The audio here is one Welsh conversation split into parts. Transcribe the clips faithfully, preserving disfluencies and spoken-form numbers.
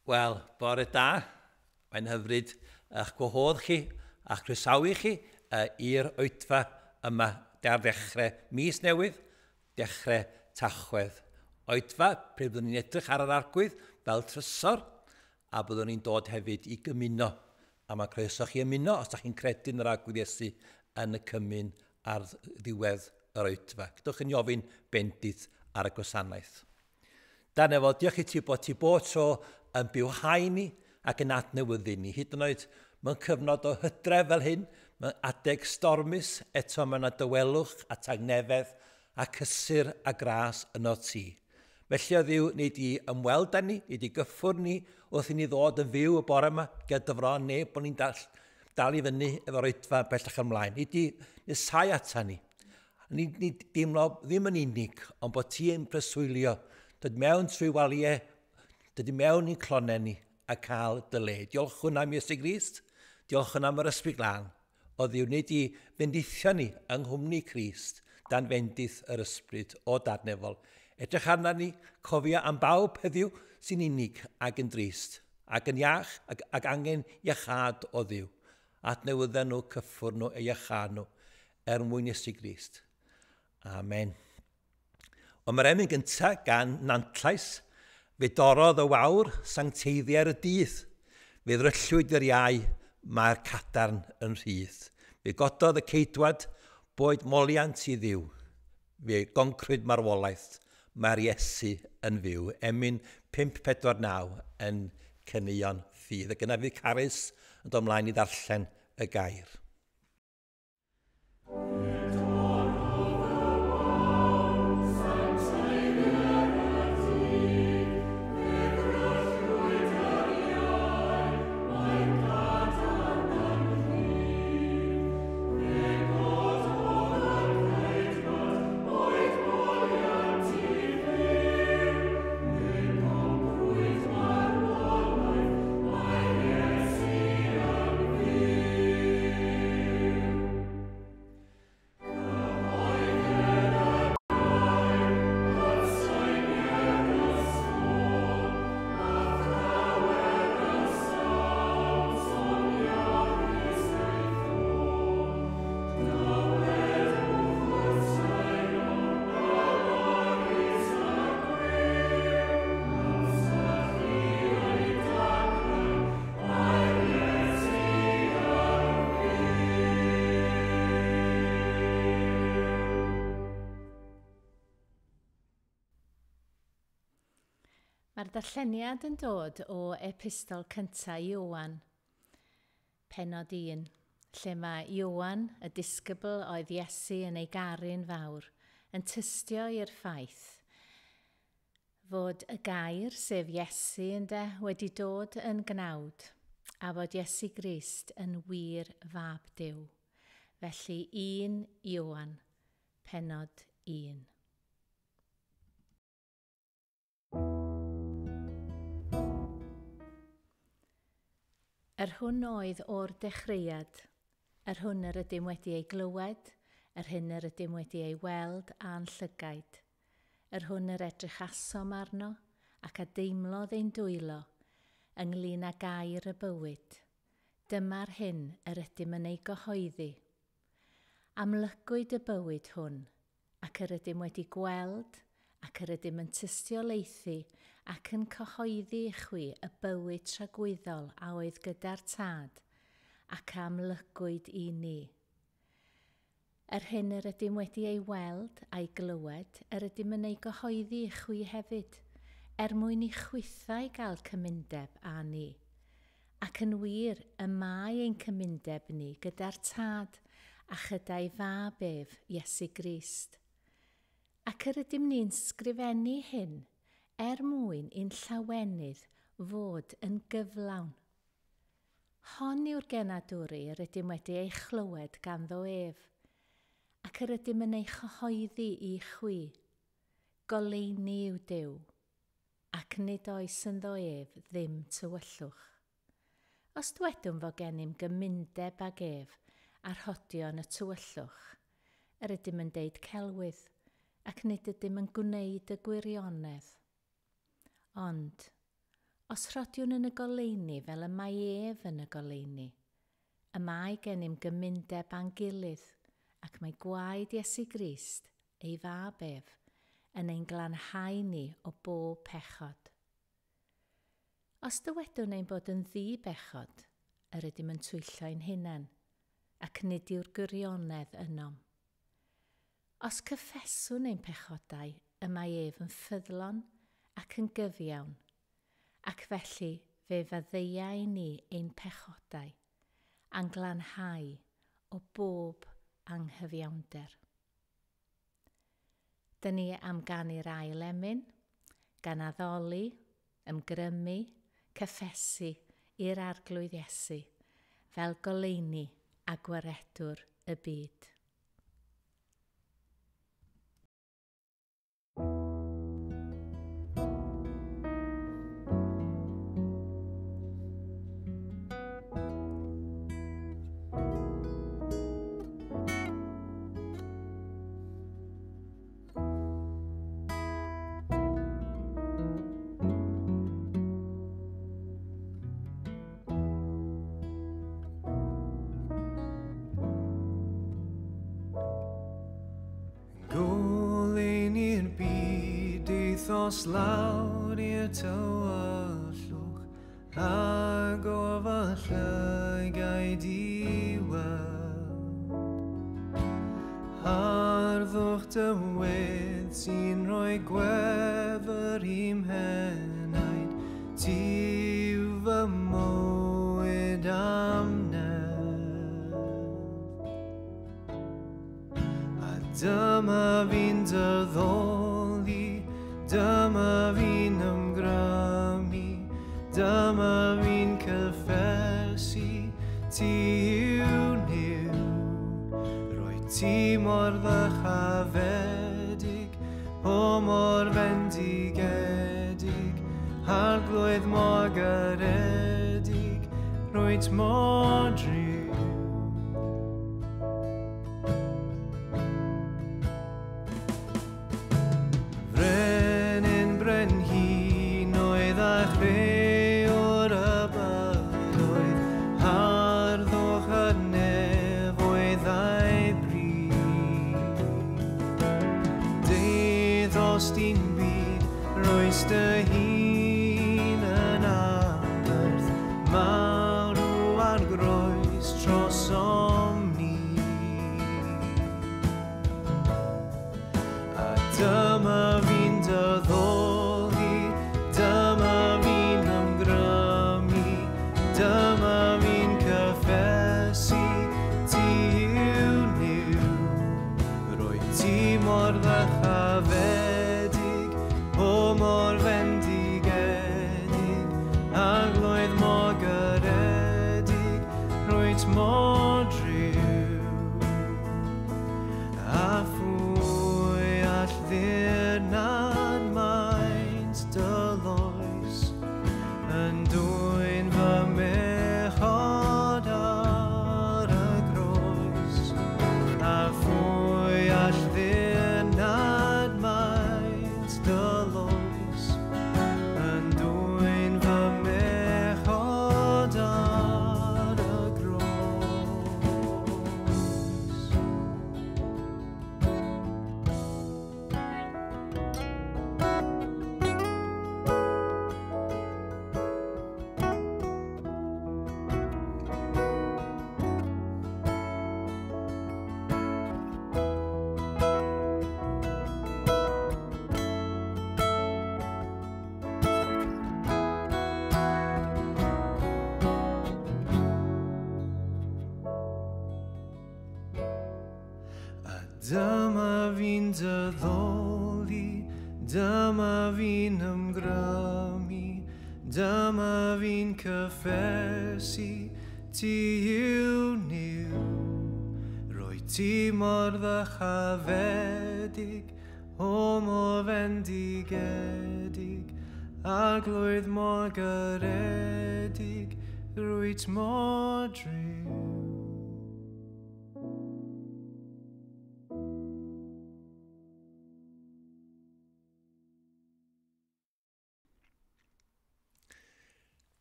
Wel, bore da. Mae'n hyfryd eich gwahodd chi a'ch croesawu chi uh, i'r oedfa yma ar ddechrau mis newydd, dechrau Tachwedd. Oedfa, pryd byddwn ni'n edrych ar yr Arglwydd fel trysor, a byddwn ni'n dod hefyd i gymuno. A mae croeso chi ymuno os ydych chi'n credu yn yr Arglwydd Iesu yn y cymun ar ddiwedd yr oedfa. Gydwch chi'n ofyn bendith ar y gwasanaeth. Dan efo, diolch i ti bod ti bod tro yn bywhau ni ac yn adnewyddu ni. Hyd yn oed mewn cyfnod o hydref fel hyn, mewn adeg stormus, eto mae yna dawelwch a tangnefedd a cysur a gras yno ti. Felly o Dduw, nei di ymweld â ni, nei di gyffwrdd ni wrth i ni ddod yn fyw y bore yma, gyda dy fron neb bod ni'n dal, dal i fyny efo'r oedfa bellach ymlaen. Nei di nesau ata ni. Ni, ni deimlo ddim yn unig, ond bod ti yn preswylio, dod mewn trwy waliau, dod i mewn i'n clonau ni a cael dy le. Diolchwn am Iesu Grist, diolchwn am yr Ysbryd Glân. O Dduw, nei di fendithio ni yng nghwmni Crist, dan fendith yr Ysbryd o Dad nefol. Edrych arna ni, cofio am bawb heddiw sy'n unig ac yn drist, ac yn iach ac, ac angen iachâd o Dduw. Adnewydda nhw, cyffwrdd nhw, eu iachâd nhw, er mwyn Iesu Grist. Amen. Ond mae'r emyn gyntaf gan Nantlais, fe dorrodd y wawr sancteiddiau'r y dydd. Fe ddryllwyd yr iau, mae'r cadarn yn rhydd. Fe gododd y ceidwad, boed moliant i Dduw. Fe goncrwyd marwolaeth, mae'r Iesu yn fyw. Emyn pump pedwar naw yn Caneuon Ffydd. Ac yna fydd Carys yn dod ymlaen i ddarllen y gair. Mae'r darlleniad yn dod o epistol cyntaf Ioan, pennod un, lle mae Ioan, y disgybl oedd Iesu yn ei garu'n fawr, yn tystio i'r ffaith fod y gair, sef Iesu ynde, wedi dod yn gnawd, a fod Iesu Grist yn wir fab Duw. Felly un Ioan, pennod un. Yr hwn oedd o'r dechreuad, yr hwn yr ydym wedi ei glywed, yr hyn yr ydym wedi ei weld a'n llygaid, yr hwn yr edrychasom arno ac a deimlodd ein dwylo ynglyn â gair y bywyd. Dyma'r hyn yr ydym yn ei gyhoeddi. Amlygwyd y bywyd hwn, ac yr ydym wedi gweld, ac yr ydym yn tystiolaethu ac yn cyhoeddi i chwi y bywyd tragwyddol a oedd gyda'r Tad ac a amlygwyd i ni. Yr hyn yr ydym wedi ei weld a'i glywed, yr ydym yn ei gyhoeddi i chwi hefyd, er mwyn i chwithau gael cymundeb â ni. Ac yn wir, y mae ein cymundeb ni gyda'r Tad a chyda'i fab ef, Iesu Grist. Ac yr ydym ni'n sgrifennu hyn, er mwyn i'n llawenydd fod yn gyflawn. Hon yw'r genadwri yr ydym wedi ei chlywed ganddo ef, ac yr ydym yn ei chyhoeddi i chwi. Goleuni yw Duw, ac nid oes ynddo ef ddim tywyllwch. Os dwedwn fod gennym gymundeb ag ef a rhodion y tywyllwch, yr ydym yn deud celwydd, ac nid ydym yn gwneud y gwirionedd. Ond, Os rhodiwn yn y goleuni fel y mae ef yn y goleuni, y mae gennym gymundeb â'n gilydd, ac mae gwaed Iesu Grist, ei fab ef, yn ein glanhau ni o bob pechod. Os dywedwn ein bod yn ddi-bechod, yr ydym yn twyllo ein hunain, ac nid yw'r gwirionedd ynom. Os cyffeswn ein pechodau, y mae ef yn ffyddlon ac yn gyfiawn, ac felly fe faddeuai ni ein pechodau, a'n glanhau o bob anghyfiawnder. Dyn ni am ganu'r ail emyn, gan addoli, ymgrymu, cyffesu i'r Arglwydd Iesu, fel goleuni a gwaredwr y byd. Os lawr i'r tywyllwch a gofal llygaid i weld harddwch dy wedd sy'n rhoi gwefr i'm henaid, ti yw fy mywyd am nef. A dyma fi'n dy ddoli, dyma fi'n ymgrymu, dyma fi'n cyffesu, ti yw Nuw. Rwyt ti mor ddychafedig, o mor fendigedig, Arglwydd mor garedig, rwyt mor driw. Dy hun yn aberth, marw ar groes trosom ni. A dyma fi'n dy ddoli, dyma fi'n ymgrymu, dyma fi'n cyffesu, ti yw Nuw. Rwyt ti mor ddychafedig, o mor fendigedig, Arglwydd mor garedig, rwyt mor driw. A phwy all ddirnad maint dy loes, yn dwyn fy mechod ar y groes. A phwy all ddirnad maint dy loes, yn dwyn fy mechod ar y groes. A dyma fi'n dy ddoli, dyma fi'n ymgrymu, dyma fi'n cyffesu, ti yw Nuw. Rwyt ti mor ddychafedig, o mor fendigedig, Arglwydd mor garedig, rwyt mor driw.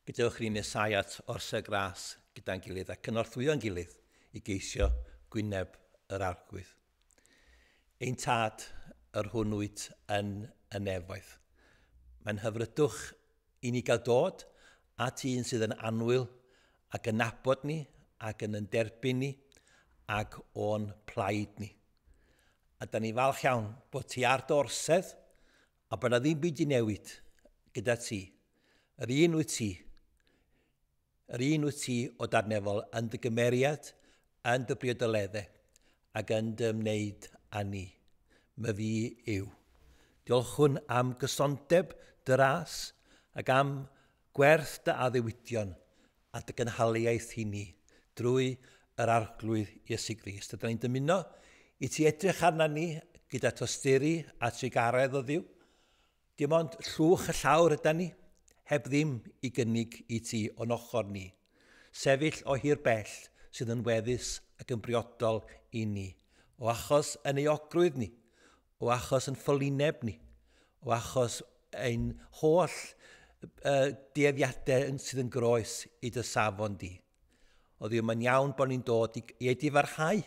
Gadewch i ni nesau at orsedd gras gyda'n gilydd a cynorthwyo'n gilydd i geisio gwyneb yr Arglwydd. Ein Tad, yr hwn wyt yn y nefoedd. Mae'n hyfrydwch i ni gael dod at un sydd yn annwyl ac yn nabod ni ac yn yn derbyn ni ac o'n plaid ni. A da ni falch iawn bod ti ar dy orsedd a bod na ddim byd i newid gyda ti. Yr un wyt ti. Yr un wyt ti o Dad nefol yn dy gymeriad, yn dy briodoleddau ac yn dy ymwneud â ni. Myfi yw. Diolchwn am gysondeb dy ras ac am gwerth dy addewidion a dy gynhaliaeth i ni drwy yr Arglwydd Iesu Grist. A da ni'n dymuno i ti edrych arna ni gyda tosturi a trugaredd o Dduw. Dim ond llwch y llawr yda ni, heb ddim i gynnig i ti o'n ochr ni. Sefyll o hir bell sydd yn weddus ac yn briodol i ni. O achos yn euogrwydd ni, o achos yn ffolineb ni, o achos ein holl uh, dueddiadau sydd yn groes i dy safon di. O Dduw, mae'n iawn bod ni'n dod i, i edifarhau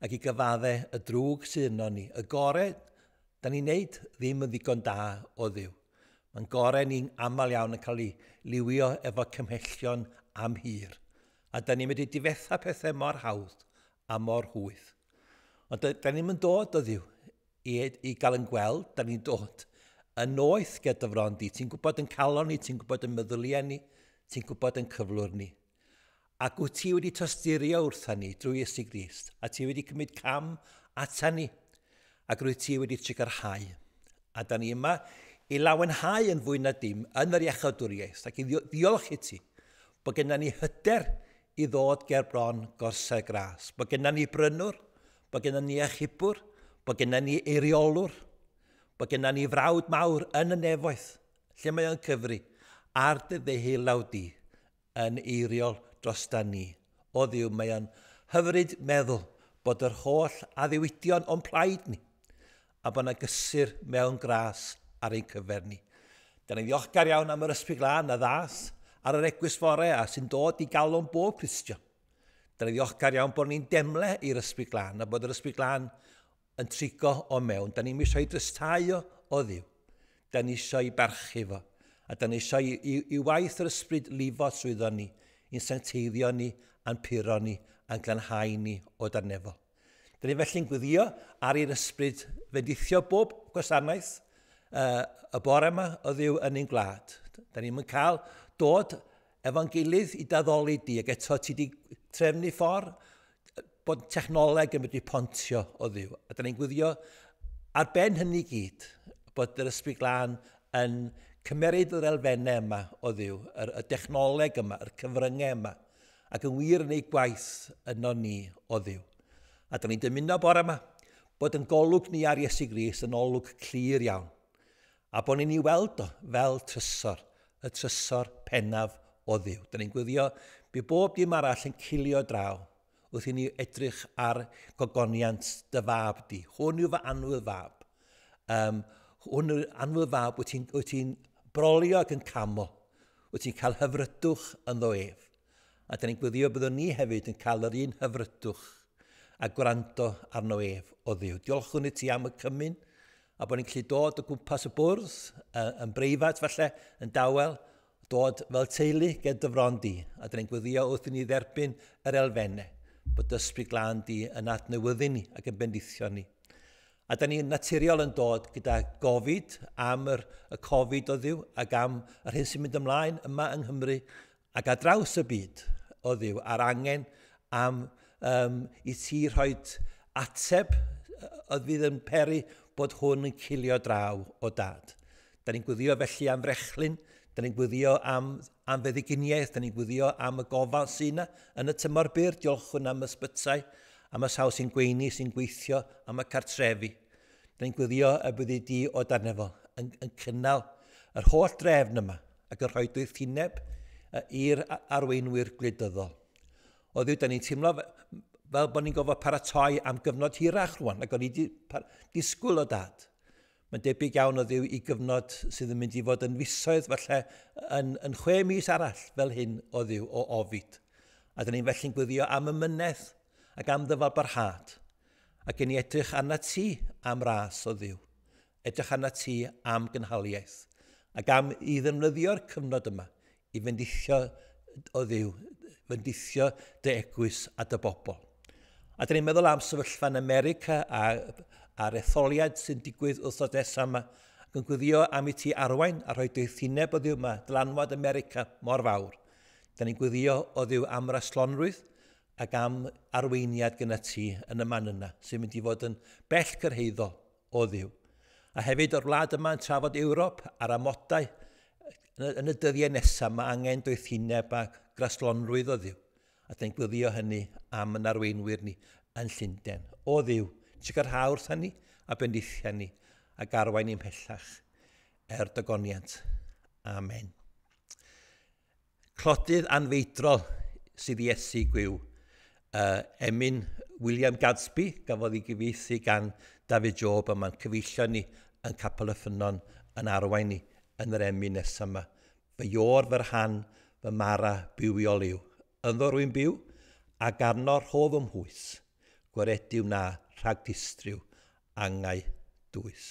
ac i gyfadde y drwg sydd yno ni. Y gore da ni'n neud ddim yn ddigon da o Dduw. Mae'n gore ni'n aml iawn yn cael ei liwio efo cymhellion am hir. A da ni'n mynd i difetha pethau mor hawdd a mor hwyth. Ond da, da ni'n mynd dod o Dduw i, i gael yn gweld, da ni'n dod yn noeth gyda fron di. Ti'n gwybod yn calon ni, ti'n gwybod yn meddyliau ni, ti'n gwybod yn cyflwr ni. Ac wyt ti wedi tosturio wrtha ni drwy Iesu Grist, a ti wedi cymryd cam ata ni, ac rwyt ti wedi trugarhau. A da ni yma i lawenhau yn fwy na dim yn yr iachawdwriaeth, ac i ddiolch i ti bod genna ni hyder i ddod ger bron gorsedd gras, bod genna ni brynwr, bod genna ni achubwr, bod genna ni eiriolwr, bod genna ni frawd mawr yn y nefoedd, lle mae o'n cyfri, ar dy ddeheulaw di yn eiriol drosta ni. O Dduw, mae o'n hyfryd meddwl bod yr holl addewidion o'n plaid ni, a bod yna gysur mewn gras ar ein cyfer ni. Da ni'n ddiolchgar iawn am yr Ysbryd Glân a ddath ar yr eglwys fore a sy'n dod i galon bob Cristion. Da ni'n ddiolchgar iawn bod ni'n demle i'r Ysbryd Glân a bod yr Ysbryd Glân yn trigo o mewn. Da ni'n eisiau i drystau o, o Dduw. Da ni eisiau i barchu fo. A da ni eisiau i, i, i waith yr Ysbryd lifo trwyddo ni, i'n sancteiddio ni, a'n puro ni, a'n glanhau ni o dan nefol. Da ni felly'n gweddio ar i'r Ysbryd fendithio bob gwasanaeth uh, y bore yma o Dduw yn ein gwlad. Da ni'n cael dod efo'n gilydd i daddoli di, ac eto ti di trefnu ffordd bod technoleg yn medru pontio o Dduw. A da ni'n gweddio ar ben hynny gyd bod yr Ysbryd Glân yn cymeryd yr elfennau yma o Dduw, yr, y dechnoleg yma, yr cyfryngau yma, ac yn wir yn ei gwaith yno ni o Dduw. A da ni'n dymuno bore yma bod yn golwg ni ar Iesu Grist yn olwg clir iawn, a bod ni'n ei weld o fel trysor, y trysor pennaf o Dduw. Da ni'n gweddio bydd bob dim arall yn cilio draw wrth i ni edrych ar gogoniant dy fab di. Hwn yw fy annwyl fab. Um, hwn yw'r annwyl fab wyt ti'n ti brolio ac yn camol. Wyt ti'n cael hyfrydwch ynddo ef. A da ni'n gweddio byddwn ni hefyd yn cael yr un hyfrydwch a gwrando arno ef o Dduw. Diolchwn i ti am y cymun, a bod ni'n gallu dod o gwmpas y bwrdd, yn breifat falle, yn dawel, dod fel teulu gyda dy fron di. A da ni'n gweddio wrth i ni dderbyn yr elfennau, bod Ysbryd Glân di yn adnewyddu ni ac yn bendithio ni. A da ni'n naturiol yn dod gyda gofid am yr, y Covid o Dduw ac am yr hyn sy'n mynd ymlaen yma yng Nghymru ac ar draws y byd o Dduw, a'r angen am um, i ti rhoi ateb oedd fydd yn peri bod hwn yn cilio draw o Dad. Da ni'n gweddio felly am frechlyn, da ni'n gweddio am, am feddyginiaeth, da ni'n gweddio am y gofal sy'n yna yn y tymor byr. Diolchwn am ysbytai, am y sawl sy'n gweini, sy'n gweithio, am y cartrefi. Da ni'n gweddio y byddi di o dan nefol yn, yn cynnal yr holl drefn yma ac yn rhoi doethineb i'r arweinwyr gwleidyddol. O Dduw, da ni'n teimlo fel bod ni'n gofod paratoi am gyfnod hirach rwan, ac o'n i wedi disgwyl o Dad. Mae'n debyg iawn o Dduw i gyfnod sydd yn mynd i fod yn fisoedd, falle yn, yn chwe mis arall fel hyn o Dduw, o ofid. A dyn ni'n felly'n gweddio am ymynedd ac am ddyfalbarhad. Ac yn ni edrych arna ti am ras o Dduw. Edrych arna ti am gynhaliaeth. Ac am i ddefnyddio'r cyfnod yma i fendithio o Dduw, fendithio dy eglwys a dy bobl. A dyn ni'n meddwl am sefyllfa yn America a a'r etholiad sy'n digwydd wythnos nesaf yma, ac yn gweddio am i ti arwain a rhoi doethineb o Dduw yma, dylanwad America mor fawr. Da ni'n gweddio o Dduw am raslonrwydd ac am arweiniad gyda ti yn y man yna, sy'n mynd i fod yn bell cyrhaeddol o Dduw. A hefyd o'r wlad yma yn trafod Ewrop a'r amodau yn y dyddiau nesaf, mae angen doethineb a graslonrwydd o Dduw. A da ni'n gweddio hynny am yn arweinwyr ni yn Llundain. O Dduw, sicrhau wrth hynny a bendithia ni ac arwain ni'n pellach er dygoniant. Amen. Clodydd anfeidrol sydd Iesu gwiw. Uh, emyn William Gadsby gafodd ei gyfieithu gan David Job, a mae'n cyfeillio ni yn Capel y Ffynnon yn arwain ni yn yr emyn nesaf yma. Fy ior, fy rhan, fy mara bywiol yw. Ynddo rwy'n byw ac arno rhof ymhwys. Gwaredu wna rhag distryw angau dwys.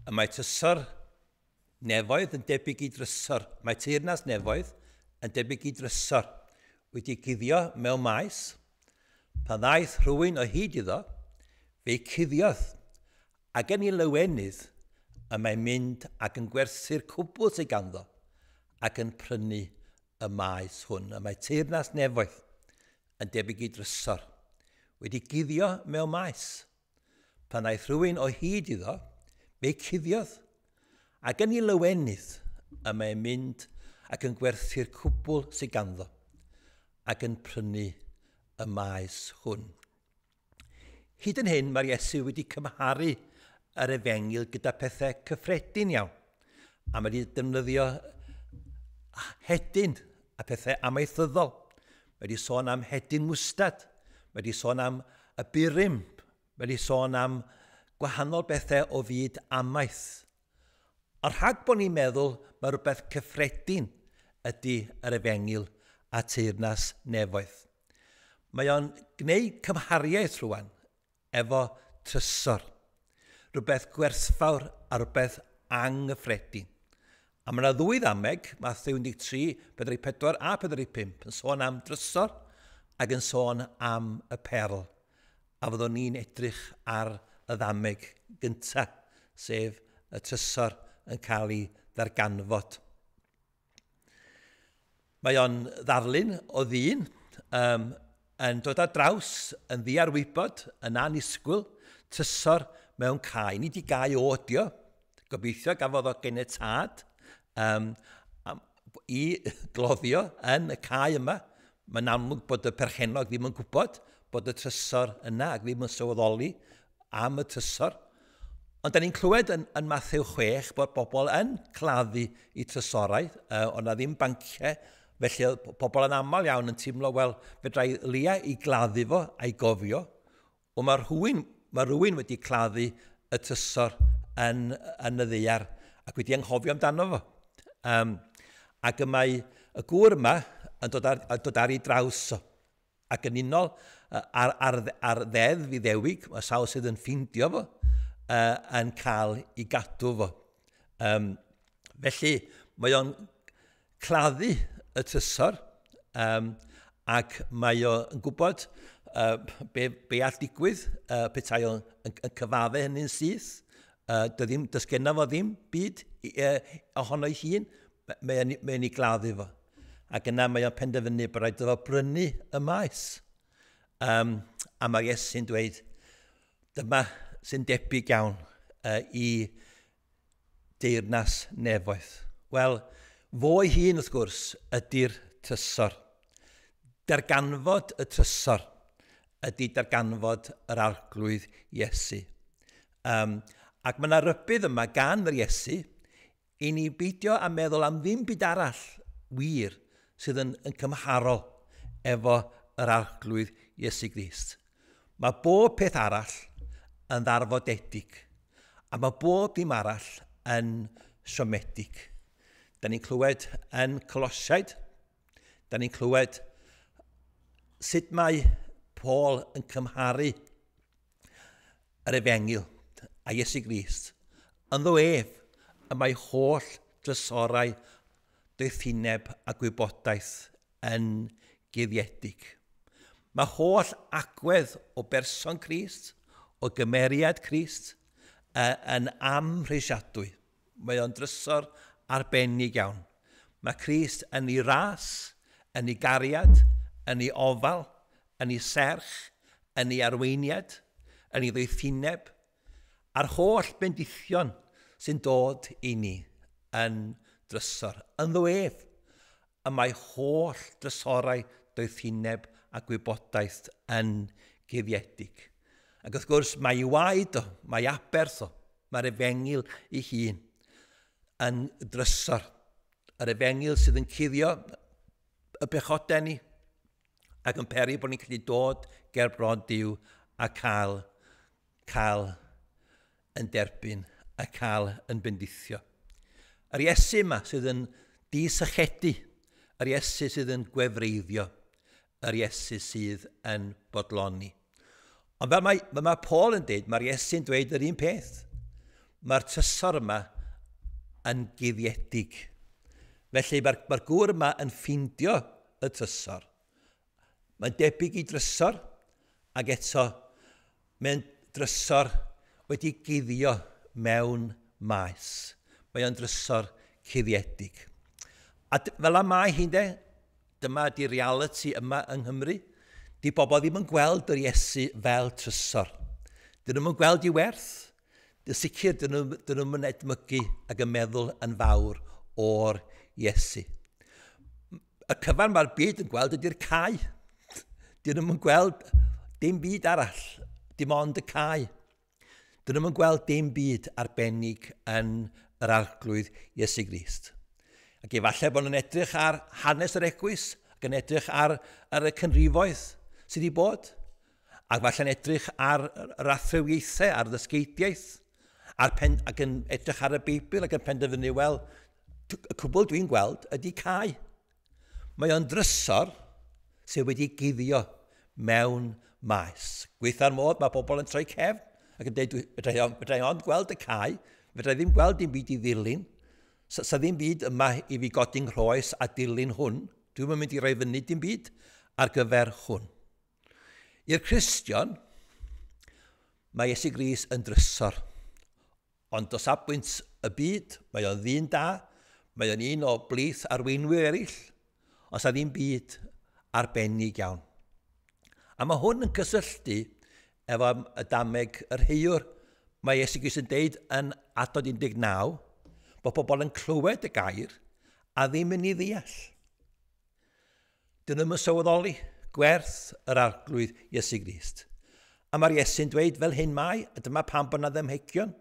Y mae trysor nefoedd yn debyg i drysor. Mae teyrnas nefoedd yn debyg i drysor. Wedi guddio mewn maes, pan ddaeth rhywun o hyd iddo, fe'i cuddiodd. Ac yn ei lawenydd, y mae'n mynd ac yn gwerthu'r cwbl sydd ganddo ac yn prynu y maes hwn. Y mae teyrnas nefoedd yn debyg i drysor. Wedi guddio mewn maes. Pan ddaeth rhywun o hyd iddo, fe'i cuddiodd. Ac yn ei lawenydd, y mae'n mynd ac yn gwerthu'r cwbl sydd ganddo ac yn prynu y maes hwn. Hyd yn hyn, mae'r Iesu wedi cymharu yr efengyl gyda pethau cyffredin iawn. A mae wedi defnyddio hedyn a pethau amaethyddol. Mae wedi sôn am hedyn mwstad. Mae wedi sôn am y burum. Mae wedi sôn am gwahanol bethau o fyd amaeth. Ond rhag bod ni'n meddwl mae rhywbeth cyffredin ydy yr efengyl a teyrnas nefoedd. Mae o'n gwneud cymhariaeth rwan efo trysor. Rhywbeth gwerthfawr a rhywbeth anghyffredin. A mae yna ddwy ddameg, Mathew un deg tri, pedwar deg pedwar a pedwar deg pump, yn sôn am drysor ac yn sôn am y perl. A fyddwn ni'n edrych ar y ddameg gyntaf, sef y trysor yn cael ei ddarganfod. Mae o'n ddarlun o ddyn um, yn dod ar draws, yn ddiarwybod, yn annisgwyl, trysor mewn cae. Nid i gae o ydi o, gobeithio gafodd o genietâd um, i gloddio yn y cae yma. Mae'n amlwg bod y perchennog ddim yn gwybod bod y trysor yna ac ddim yn sylweddoli am y trysor. Ond da ni'n clywed yn, yn Mathew chwech bod bobl yn claddu i trysorau, uh, ond na ddim banciau, felly oedd pobl yn aml iawn yn teimlo, wel, fedra i lia i gladdu fo a'i gofio, ond mae rhywun, mae rhywun wedi claddu y trysor yn, yn y ddaear ac wedi anghofio amdano fo. Um, ac y mae y gŵr yma yn dod ar, dod ar ei draws o. Ac yn unol ar, ar, ar ddeddf Iddewig, mae sawl sydd yn ffeindio fo, uh, yn cael ei gadw fo. Um, felly, mae o'n claddu y trysor, um, ac mae o'n gwybod uh, be, be all digwydd, uh, petai o'n yn, yn cyfadde hynny'n syth. Uh, ddim, does genna fo ddim byd uh, ohono ei hun, mae'n mae ei gladdu fo. Ac yna mae o'n penderfynu bod rhaid iddo fo brynu y maes. Um, a mae Iesu'n dweud, dyma sy'n debyg iawn uh, i deyrnas nefoedd. Wel, fo ei hun wrth gwrs ydy'r trysor. Darganfod y trysor ydy darganfod yr Arglwydd Iesu. Um, ac mae yna rybudd yma gan yr Iesu i ni beidio a meddwl am ddim byd arall wir sydd yn, yn cymharol efo yr Arglwydd Iesu Grist. Mae bob peth arall yn ddarfodedig a mae bob dim arall yn siomedig. Da ni'n clywed yn Colosiaid, da ni'n clywed sut mae Paul yn cymharu yr efengyl a Iesu Grist. Ynddo ef, y mae holl drysorau doethineb a gwybodaeth yn guddiedig. Mae holl agwedd o berson Crist, o gymeriad Crist, yn amhrisiadwy. Mae o'n drysor arbennig iawn. Mae Crist yn ei ras, yn ei gariad, yn ei ofal, yn ei serch, yn ei arweiniad, yn ei ddoethineb, a'r holl bendithion sy'n dod i ni yn drysor. Ynddo ef, y mae holl drysorau doethineb a gwybodaeth yn guddiedig. Ac wrth gwrs, mae ei waed o, mae aberth o, mae'r efengyl ei hun yn drysor. Yr efengyl sydd yn cuddio y pechodau ni ac yn peri bod ni'n gallu dod ger bron Duw a cael, cael yn derbyn a cael yn bendithio. Yr Iesu yma sydd yn disychedu, yr Iesu sydd yn gwefreiddio, yr Iesu sydd yn bodloni. Ond fel mae, fel mae Paul yn dweud, mae'r Iesu'n dweud yr un peth. Mae'r trysor yma yn guddiedig. Felly mae'r, mae'r gŵr yma yn ffeindio y trysor. Mae'n debyg i drysor, ac eto mae'n drysor wedi guddio mewn maes. Mae o'n drysor cuddiedig. A fel y mae hi'n de, dyma di reality yma yng Nghymru. Di bobl ddim yn gweld yr Iesu fel trysor. Dyn nhw'n gweld ei werth. Dyn sicr dyn nhw'n edmygu ac yn meddwl yn fawr o'r Iesu. Y cyfan mae'r byd yn gweld ydy'r cae. Dyn nhw'n gweld dim byd arall, dim ond y cae. Dyn nhw'n gweld dim byd arbennig yn yr Arglwydd Iesu Grist. Ac efallai bod nhw'n edrych ar hanes yr eglwys, ac yn edrych ar, ar y cynrifoedd sydd wedi bod, ac falle'n edrych ar yr athrawiaethau, ar ddysgeidiaeth, ar pen, ac yn edrych ar y Beibl ac yn penderfynu, wel, y cwbl dwi'n gweld ydy cae. Mae o'n drysor sydd wedi guddio mewn maes. Gweitha'r modd, mae pobl yn troi cefn ac yn dweud, fedra i ond gweld y cae, fedra i ddim gweld dim byd i ddilyn. Sa, sa ddim byd yma i fi godi'n rhoes a dilyn hwn. Dwi'm yn mynd i roi fyny dim byd ar gyfer hwn. I'r Cristion, mae Iesu Grist yn drysor. Ond o safbwynt y byd, mae o'n ddyn da, mae o'n un o blith arweinwyr eraill, ond sa ddim byd arbennig iawn. A mae hwn yn cysylltu efo y dameg yr heiwr. Mae Iesu Grist yn deud yn adnod un deg naw bod pobl yn clywed y gair a ddim yn ei ddeall. Dyn nhw'm yn sylweddoli gwerth yr Arglwydd Iesu Grist. A mae'r Iesu'n dweud fel hyn mae, a dyma pam bod yna ddamhegion.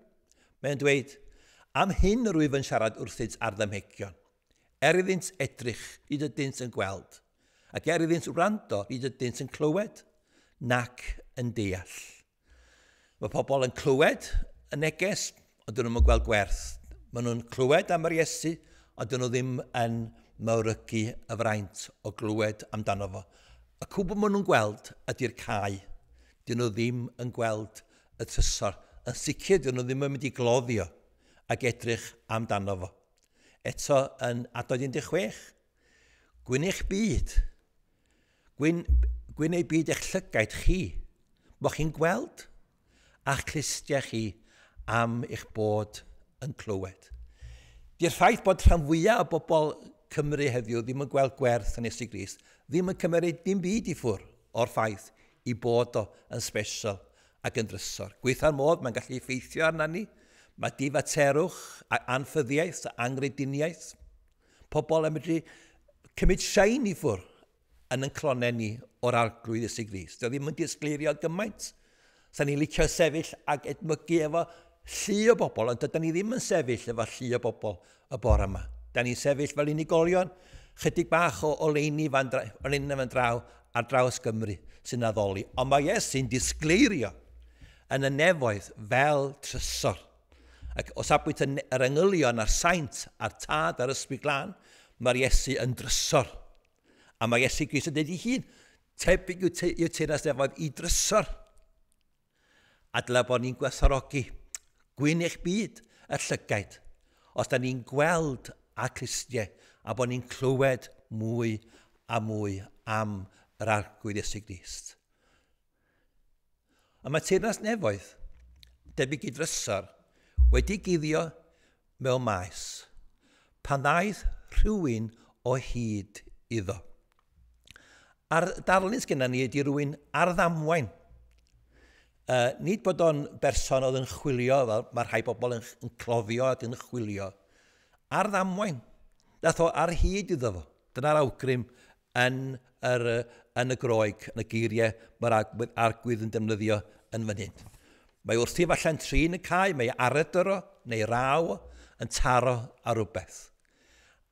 Mae'n dweud, am hyn yr wyf yn siarad wrthynt ar ddamhegion. Er iddynt edrych, nid ydynt yn gweld, ac er iddynt wrando, nid ydynt yn clywed, nac yn deall. Mae pobl yn clywed y neges, ond dyn nhw'n gweld gwerth. Maen nhw'n clywed am yr Iesu, ond dyn nhw ddim yn mawrygu y fraint o glywed amdano fo. Y cwbl maen nhw'n gweld ydy'r cae. Dyn nhw ddim yn gweld y trysor. Yn sicr, dyn nhw ddim yn mynd i gloddio ac edrych amdano fo. Eto yn adnod un deg chwech, gwyn eich byd, gwyn, gwyn ei byd eich llygaid chi, bod chi'n gweld, a'ch clustiau chi am eich bod yn clywed. Di'r ffaith bod rhan fwyaf o bobl Cymru heddiw ddim yn gweld gwerth yn Iesu Grist, ddim yn cymryd dim byd i ffwrdd o'r ffaith i bod o yn special ac yn drysor. Gweitha'r modd, mae'n gallu effeithio arna ni. Mae difaterwch, anffyddiaeth, angrediniaeth. Pobl yn medru cymryd sein i ffwrdd yn yn clonau ni o'r Arglwydd Iesu Grist. Dio ddim yn disgleirio gymaint. Sa'n ni'n licio sefyll ac edmygu efo llu o bobl, ond dydyn ni ddim yn sefyll efo llu o bobl y bore yma. Da ni'n sefyll fel unigolion, chydig bach o oleuni fan, oleuni fan draw ar draws Gymru sy'n addoli. Ond mae Iesu'n disgleirio yn y nefoedd fel trysor. Ac o safbwynt yr angylion a'r saint a'r tad a'r Ysbryd Glân, mae'r Iesu yn drysor. A mae Iesu Grist yn dweud ei hun, tebyg yw teyrnas nefoedd i drysor. A dyla bod ni'n gwerthfawrogi gwyn eich byd y llygaid. Os da ni'n gweld a clustiau, a bod ni'n clywed mwy a mwy am yr Arglwydd Iesu Grist. A mae teyrnas nefoedd, debyg i drysor, wedi guddio mewn maes, pan ddaeth rhywun o hyd iddo. A'r darlun sgenna ni ydy rhywun ar ddamwain. Uh, nid bod o'n berson oedd yn chwilio, fel mae rhai bobl yn, yn cloddio ac yn chwilio. Ar ddamwain. Dath o ar hyd iddo fo. Dyna'r awgrym yn, yr, yn y Groeg, yn y geiriau mae'r Arglwydd yn defnyddio yn fan hyn. Mae wrthi falle'n trin y cae, mae aradr o, neu raw, yn taro ar rhywbeth.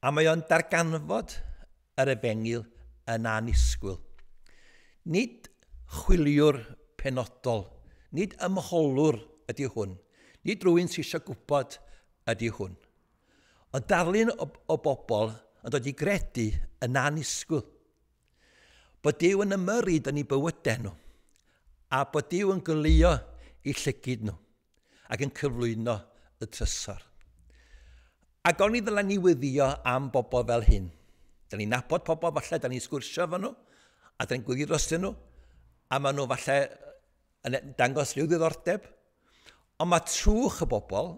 A mae o'n darganfod yr efengyl yn annisgwyl. Nid chwiliwr penodol, nid ymholwr ydy hwn, nid rhywun sy'n eisiau gwybod ydy hwn. Ond darlun o, o bobl yn dod i gredu yn annisgwyl. Bod Duw yn ymyrryd yn eu bywydau nhw, a bod Duw yn goleuo eu llygid nhw, ac yn cyflwyno y trysor. Ac o'n i ddylen ni wyddio am bobl fel hyn. Da ni'n nabod pobl falle, da ni'n sgwrsio efo nhw, a da ni'n gwyddio drostyn nhw, a maen nhw falle yn dangos rhyw ddiddordeb. Ond mae trwch y bobl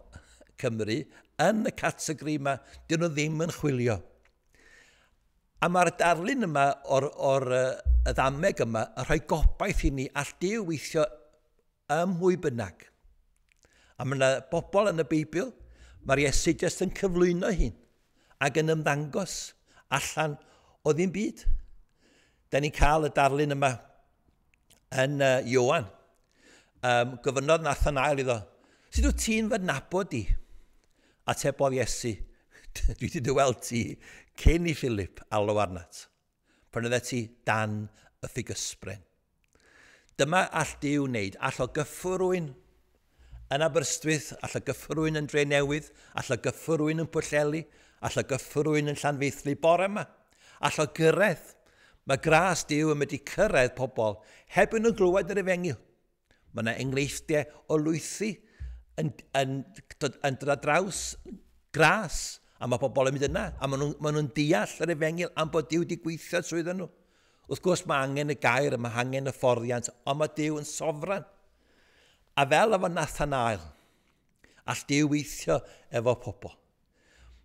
Cymru yn y categori yma, dyn nhw ddim yn chwilio. A mae'r darlun yma o'r, or, y ddameg yma yn rhoi gobaith i ni all Duw weithio ym mwy bynnag. A mae yna bobl yn y Beibl, mae'r Iesu jyst yn cyflwyno hun ac yn ymddangos allan o ddim byd. Da ni'n cael y darlun yma yn uh, Ioan. Um, gofynnodd Nathanael iddo, sut wyt ti'n fy nabod i? Atebodd Iesu, dwi wedi dy weld ti cyn i Philip alw arnat, pan oeddet ti dan y ffigysbren. Dyma all Duw wneud, all o gyffrwy'n yn Aberystwyth, all o gyffrwy'n yn Drenewydd, all o gyffrwy'n yn Pwllheli, all o gyffrwy'n yn Llanfaethlu bore yma, all o gyrraedd. Mae gras Duw yn mynd i cyrraedd pobl heb yn nhw glywed yr efengyl. Mae yna enghreifftiau o lwythi yn, yn, yn, yn dod ar draws gras, a mae pobl yn mynd yna, a maen nhw'n maen nhw deall yr efengyl am bod Duw wedi gweithio trwyddyn nhw. Wrth gwrs mae angen y gair, mae angen y fforddiant, ond mae Duw yn sofran. A fel efo Nathanael, all Duw weithio efo pobl.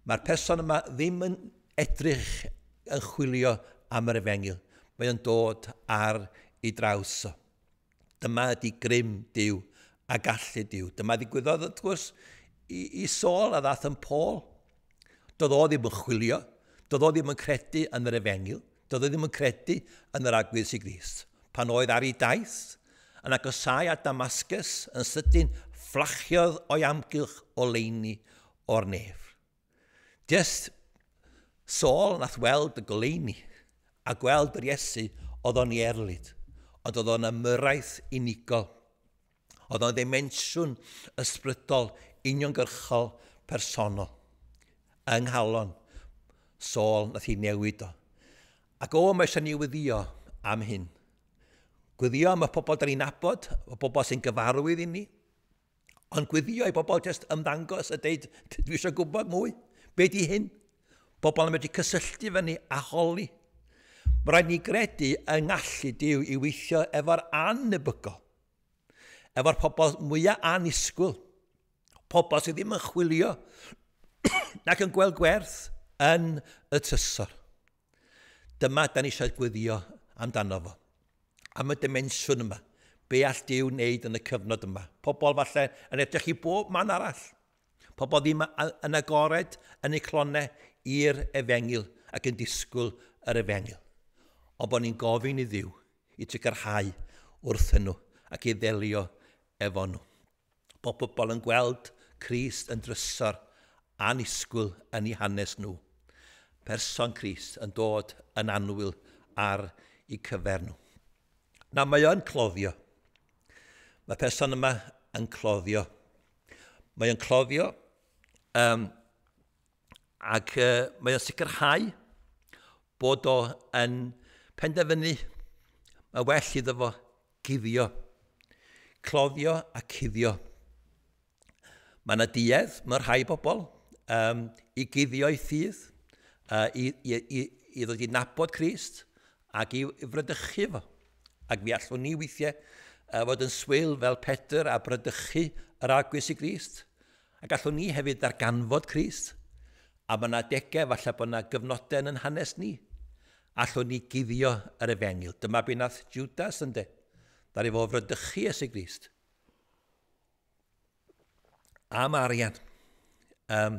Mae'r person yma ddim yn edrych yn chwilio am yr efengyl. Mae o'n dod ar ei draws o. Dyma ydy grym Duw a gallu Duw. Dyma ddigwyddodd wrth gwrs i, i Saul a ddath yn Paul. Doedd o ddim yn chwilio, doedd o ddim yn credu yn yr efengyl, doedd o ddim yn credu yn yr Arglwydd Iesu Grist. Pan oedd ar ei daith, yn agosau at Damascus, yn sydyn fflachiodd o'i amgylch oleuni o'r nef. Just Saul nath weld y goleuni a gweld yr Iesu oedd o'n ei erlid, ond oedd o'n ymyrraeth unigol. Oedd o'n ddimensiwn ysbrydol, uniongyrchol, personol. Yng nghalon Saul nath hi newid o. Ac o, mae eisiau ni weddïo am hyn. Gweddïo am y pobl da ni'n nabod, y pobl sy'n gyfarwydd i ni. Ond gweddïo i bobl jyst ymddangos a deud, dwi eisiau gwybod mwy. Be di hyn? Bobl yn medru cysylltu fyny a holi. Mae rhaid ni gredu yng ngallu Duw i weithio efo'r anebygol. Efo'r pobl mwyaf annisgwyl. Pobl sydd ddim yn chwilio nac yn gweld gwerth yn y trysor. Dyma da ni eisiau gweddio amdano fo. Am y dimensiwn yma. Be all Duw wneud yn y cyfnod yma. Pobl falle yn edrych i bob man arall. Pobl ddim yn agored yn eu clonau i'r efengyl ac yn disgwyl yr efengyl. Ond bod ni'n gofyn i Dduw i sicrhau wrthyn nhw ac i ddelio efo nhw. Bod pobl yn gweld Crist yn drysor annisgwyl yn eu hanes nhw. Person Crist yn dod yn annwyl ar eu cyfer nhw. Na, mae o'n cloddio. Mae person yma yn cloddio. Mae o'n cloddio um, ac uh, mae o'n sicrhau bod o yn penderfynu, mae well iddo fo guddio. Cloddio a cuddio. Mae yna duedd, mae rhai bobl, um, i guddio eu ffydd, uh, i, i, i, i ddod i nabod Crist ac i, i fradychu fo. Ac mi allwn ni weithiau uh, fod yn swil fel Pedr a bradychu yr Arglwydd Iesu Grist. Ac allwn ni hefyd ddarganfod Crist. A mae yna adegau, falle bod yna gyfnodau yn hanes ni. Allwn ni guddio yr efengyl. Dyma be nath Judas ynde. Ddaru fo fradychu Iesu Grist. Am arian. Um,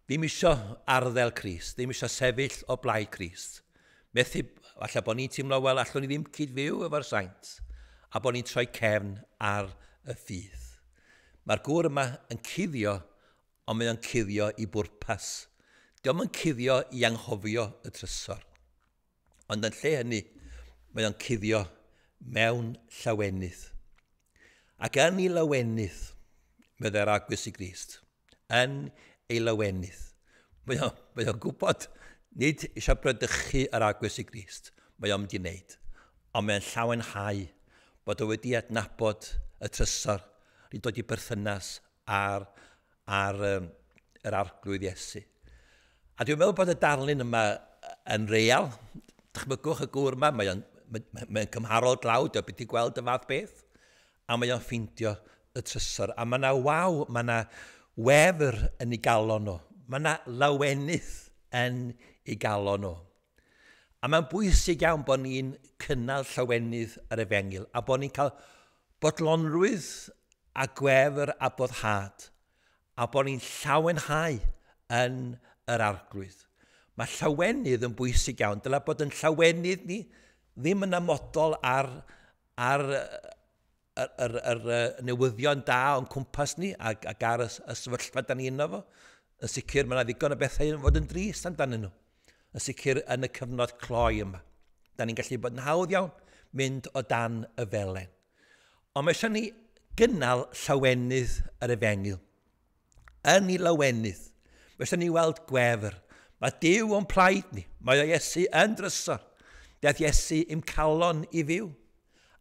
ddim isio arddel Crist, ddim isio sefyll o blaid Crist. Methu, falle bod ni'n teimlo, wel, allwn ni ddim cyd-fyw efo'r saint, a bod ni'n troi cefn ar y ffydd. Mae'r gŵr yma yn cuddio, ond mae o'n cuddio i bwrpas. Dio'm yn cuddio i anghofio y trysor. Ond yn lle hynny, mae o'n cuddio mewn llawenydd. Ac yn ei lawenydd, meddai'r Arglwydd Iesu Grist, yn ei lawenydd. Mae o'n, mae o'n gwybod, nid eisiau bradychu yr Arglwydd Iesu Grist, mae o'n mynd i wneud. Ond mae'n llawenhau bod o wedi adnabod y trysor, wedi dod i berthynas ar, ar um, yr Arglwydd Iesu. A dwi'n meddwl bod y darlun yma yn real. Dychmygwch y gŵr yma, mae o'n mae, mae cymharol dlawd, o beth i gweld y fath beth, a mae o'n ffeindio y trysor. A mae yna waw, mae yna wefr yn ei galon nhw. Mae yna lawenydd yn ei galon nhw. A mae'n bwysig iawn bod ni'n cynnal llawenydd yr efengyl, a bod ni'n cael bodlonrwydd a gwefr a boddhad, a bod ni'n llawenhau yn yr Arglwydd. Mae llawenydd yn bwysig iawn. Dyla bod yn llawenydd ni ddim yn amodol ar, ar yr, yr, yr, yr newyddion da o'n cwmpas ni ac, ac ar y, y sefyllfa da ni yno fo. Yn sicr mae yna ddigon o bethau yn fod yn drist amdanyn nhw. Yn sicr yn y cyfnod cloi yma. Da ni'n gallu bod yn hawdd iawn mynd o dan y felen. Ond mae eisiau ni gynnal llawenydd yr efengyl. Yn ei lawenydd. Mae eisiau ni weld gwefr. Mae Duw o'n plaid ni. Mae o Iesu yn drysor. Daeth Iesu i'm calon i fyw.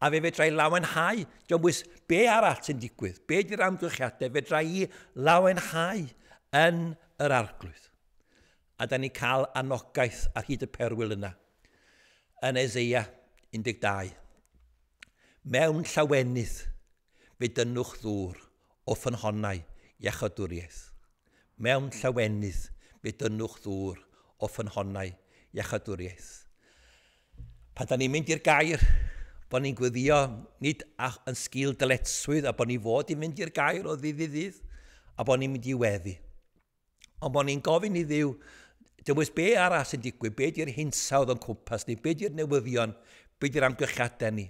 A fe fedra i lawenhau. Dio'm bwys be arall sy'n digwydd. Be di'r amgylchiadau, fedra i lawenhau yn yr Arglwydd. A da ni cael anogaeth ar hyd y perwyl yna. Yn Eseia un deg dau. Mewn llawenydd fe dynnwch ddŵr o ffynhonnau iachawdwriaeth. Mewn llawenydd fe dynnwch ddŵr o ffynhonnau iachawdwriaeth. Pan da ni'n mynd i'r gair, bod ni'n gweddio nid yn sgil dyletswydd a bod ni fod i mynd i'r gair o ddydd i ddydd, a bod ni'n mynd i weddi. Ond bod ni'n gofyn i Dduw, dewis be arall sy'n digwydd, be di'r hinsawdd o'n cwmpas ni, be di'r newyddion, be di'r amgylchiadau ni.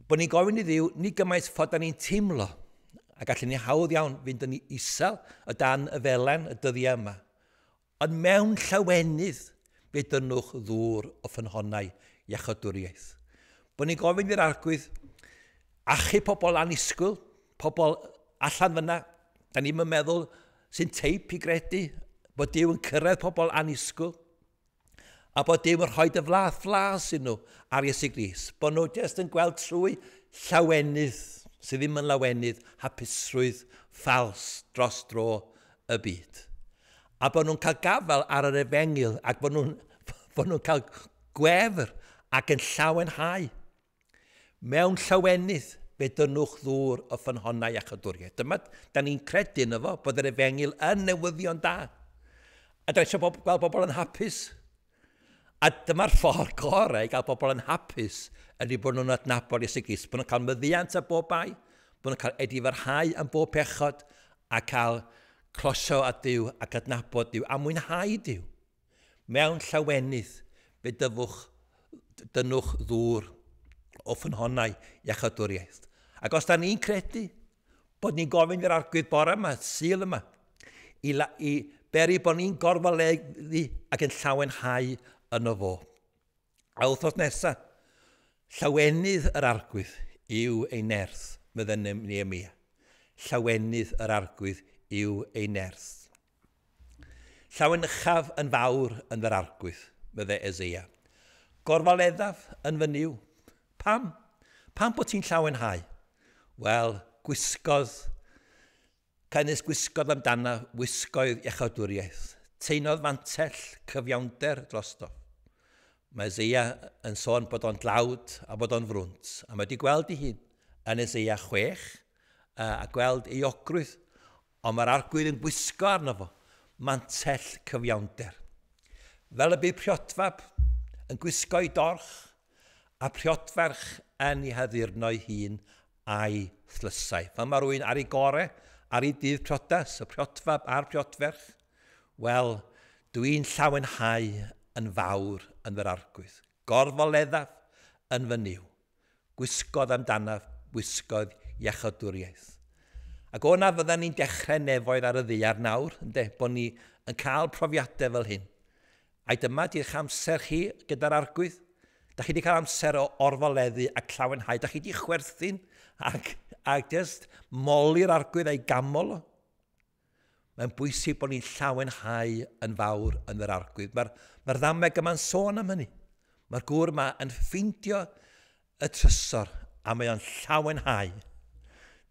Bod ni'n gofyn i Dduw, ni gymaint ffordd da ni'n teimlo, a gallwn ni hawdd iawn fynd yn isel o dan y felen y dyddiau yma. Ond mewn llawenydd, fe dynnwch ddŵr o ffynhonnau iachawdwriaeth. Bod ni'n gofyn i'r Arglwydd achub pobl annisgwyl, pobl allan fyna, da ni'n meddwl sy'n teip i gredu bod Duw yn cyrraedd pobl annisgwyl, a bod Duw yn rhoi dy flath flas i nhw ar Iesu Grist. Bod nhw jyst yn gweld trwy llawenydd, sydd ddim yn lawenydd, hapusrwydd ffals dros dro y byd. A bod nhw'n cael gafael ar yr efengyl ac bod nhw'n, bod nhw'n cael gwefr ac yn llawenhau. Mewn llawenydd fe dynnwch ddŵr o ffynhonnau iachawdwriaeth. Dyma, da ni'n credu yno fo, bod yr efengyl yn newyddion da. A da eisiau bob, gweld bobl yn hapus. A dyma'r ffordd gorau i gael bobl yn hapus ydy bod nhw'n adnabod Iesu Grist, bod nhw'n cael meddiant am bob bai, bod nhw'n cael edifarhau am bob pechod, a cael closio at Duw ac adnabod Duw, a mwynhau Duw. Mewn llawenydd fe dyfwch, dynnwch ddŵr o ffynhonnau iachawdwriaeth. Ac os da ni'n credu bod ni'n gofyn i'r Arglwydd bore yma, Sul yma, i, la, i beri bod ni'n gorfoleddu ac yn llawenhau yno fo. A wythnos nesaf, llawenydd yr Arglwydd yw ei nerth, meddai Nehemia. Llawenydd yr Arglwydd yw ei nerth. Llawenychaf yn fawr yn yr Arglwydd, meddai Eseia. Gorfoleddaf yn fy Nuw. Pam? Pam bod ti'n llawenhau? Wel, gwisgodd, canys gwisgodd amdana wisgoedd iachawdwriaeth. Teinodd fantell cyfiawnder drosto. Mae Eseia yn sôn bod o'n dlawd a bod o'n frwnt. A mae wedi gweld ei hun yn Eseia chwech a gweld ei ogrwydd. Ond mae'r Arglwydd yn gwisgo arno fo mantell cyfiawnder. Fel y bydd priodfab yn gwisgo ei dorch a priodferch yn ei haddurno ei hun a'i thlysau. Fel mae rhywun ar ei gore, ar ei dydd priodas, y priodfab a'r priodferch, wel, dwi'n llawenhau yn fawr yn fy'r Arglwydd. Gorfoleddaf yn fy Nuw. Gwisgodd amdanaf, wisgodd iachawdwriaeth. Ac o na fyddan ni'n dechrau nefoedd ar y ddaear nawr, ynde, bod ni yn cael profiadau fel hyn. Ai dyma di'ch amser chi gyda'r Arglwydd? Da chi wedi cael amser o orfoleddu a llawenhau. Da chi wedi chwerthin ac, ac just moli'r Arglwydd a'i gamol o. Mae'n bwysig bod ni'n llawenhau yn fawr yn yr Arglwydd. Mae'r mae ddameg yma'n sôn am hynny. Mae'r gŵr yma yn ffeindio y trysor a mae o'n llawenhau.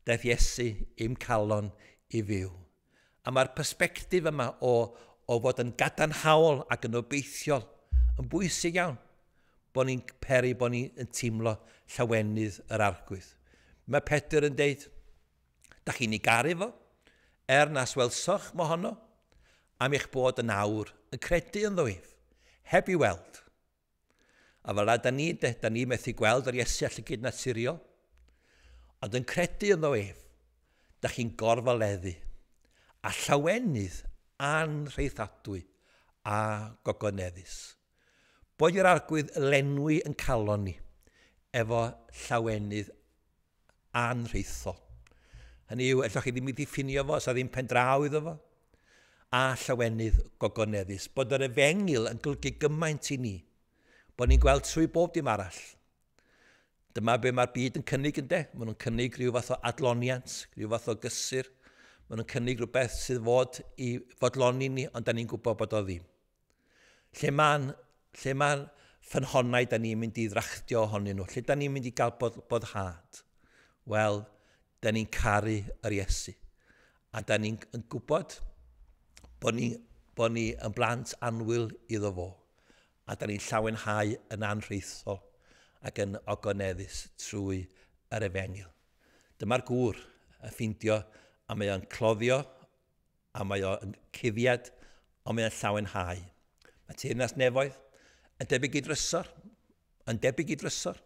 Daeth Iesu i'm calon i fyw. A mae'r persbectif yma o, o fod yn gadarnhaol ac yn obeithiol yn bwysig iawn. Bod ni'n peri, bod ni'n teimlo llawenydd yr Arglwydd. Mae Pedr yn deud, da chi'n ei garu fo, er nas welsoch mohono, am eich bod yn awr yn credu ynddo ef, heb i weld. A fel da ni, de, da ni methu gweld yr Iesu a llygyd naturiol, ond yn credu ynddo ef, da chi'n gorfoleddu, a llawenydd anrheithadwy a gogoneddus. Boed i'r Arglwydd lenwi yn calon ni efo llawenydd anrheithol. Hynny yw, ellwch chi ddim i ddiffinio fo, sa ddim pendraw iddo fo. A llawenydd gogoneddus. Bod yr efengyl yn golygu gymaint i ni, bod ni'n gweld trwy bob dim arall. Dyma be mae'r byd yn cynnig ynde. Maen nhw'n cynnig rhyw fath o adloniant, rhyw fath o gysur. Maen nhw'n cynnig rhywbeth sydd fod i fodloni ni, ond da ni'n gwybod bod o ddim. Lle mae'n lle mae'n ffynhonnau da ni'n mynd i ddrachtio ohonyn nhw? Lle da ni'n mynd i gael bod, boddhad? Wel, da ni'n caru yr Iesu. A da ni'n gwybod bod ni, bod ni yn blant annwyl iddo fo. A da ni'n llawenhau yn anrheithol ac yn ogoneddus trwy yr efengyl. Dyma'r gŵr yn ffeindio a mae o'n cloddio a mae o'n cuddiad, ond mae o'n llawenhau. Mae teyrnas nefoedd yn debyg i drysor, yn debyg i drysor,